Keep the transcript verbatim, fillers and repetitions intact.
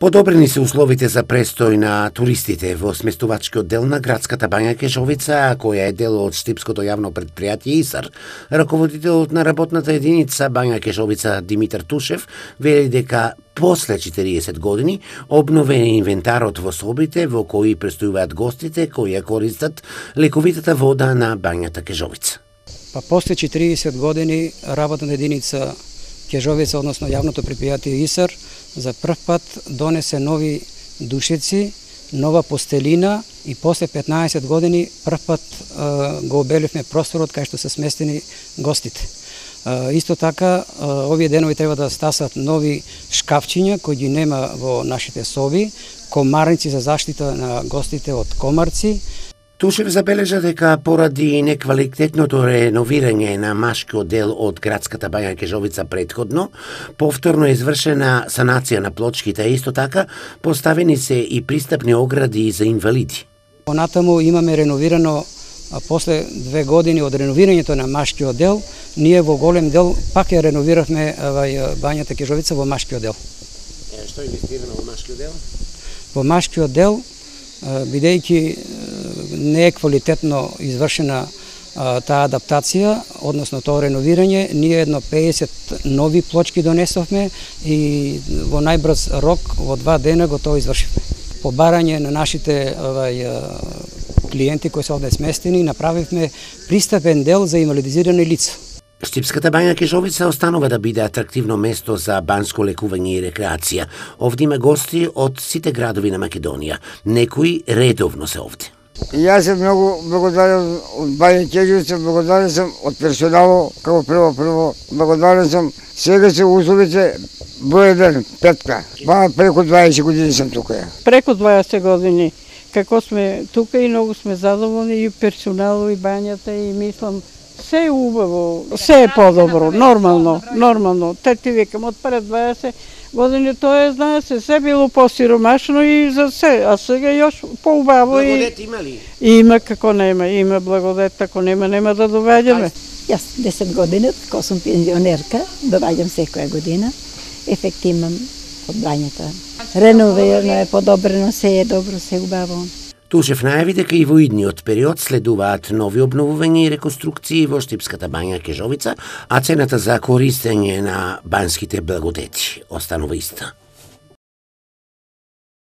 Подобрени се условите за престој на туристите во сместувачкиот дел на градската бања Кежовица, која е дел од Штипското јавно предпријатие ИСАР. Раководителот на работната единица бања Кежовица Димитар Тушев вели дека после четириесет години обновен е инвентарот во собите во кои престојуваат гостите кои ја користат лековитата вода на бањата Кежовица. Па после четириесет години работната единица Кежовица, односно јавното предпријатие ИСАР, за прв пат донесе нови душици, нова постелина и после петнаесет години прв пат е, го обеливме просторот кај што се сместени гостите. Е, исто така, е, овие денови треба да стасат нови шкафчиња кои ги нема во нашите соби, комарници за заштита на гостите од комарци. Тушев забележа дека поради неквалитетното реновирање на машкиот дел од градската бања Кежовица претходно, повторно е извршена санација на плочките, а исто така поставени се и пристапни огради за инвалиди. Понатаму имаме реновирано, а после две години од реновирањето на машкиот дел, ние во голем дел пак ја реновиравме бањата Кежовица во машкиот дел. Е, што е инвестирано во машкиот дел? Во машкиот дел, бидејќи не е квалитетно извршена а, таа адаптација, односно тоа реновирање, ние едно педесет нови плочки донесовме и во најбрз рок, во два дена го тоа извршивме. По барање на нашите овај, клиенти кои се овде сместени, направивме пристапен дел за инвалидизирани лица. Штипската бања Кежовица останува да биде атрактивно место за банско лекување и рекреација. Овде има гости од сите градови на Македонија. Некои редовно се овде. И јас сум многу благодарен од бања Кежовица, благодарен сум од персонало, како прво прво, благодарен сум. Сега се условите број еден, петка. Ба преку дваесет години сум тука. Преку дваесет години како сме тука и многу сме задоволни и персонало и бањата и мислам се е убаво, се е подобро, нормално, нормално. Те ти викам, од пред дваесет години тоа е, знае се, се било посиромашно и за се, а сега још поубаво. Благодет има ли? Има, како нема, има благодет, ако нема, нема да довеѓаме. Јас десет години, како сум пензионерка, доваѓам секоја година. Ефект имам од бањата. Реновирано е, подобрено, се е добро, се е убаво. Тушев најави дека и во идниот период следуваат нови обновувања и реконструкции во Штипската бања Кежовица, а цената за користење на банските благодети останува иста.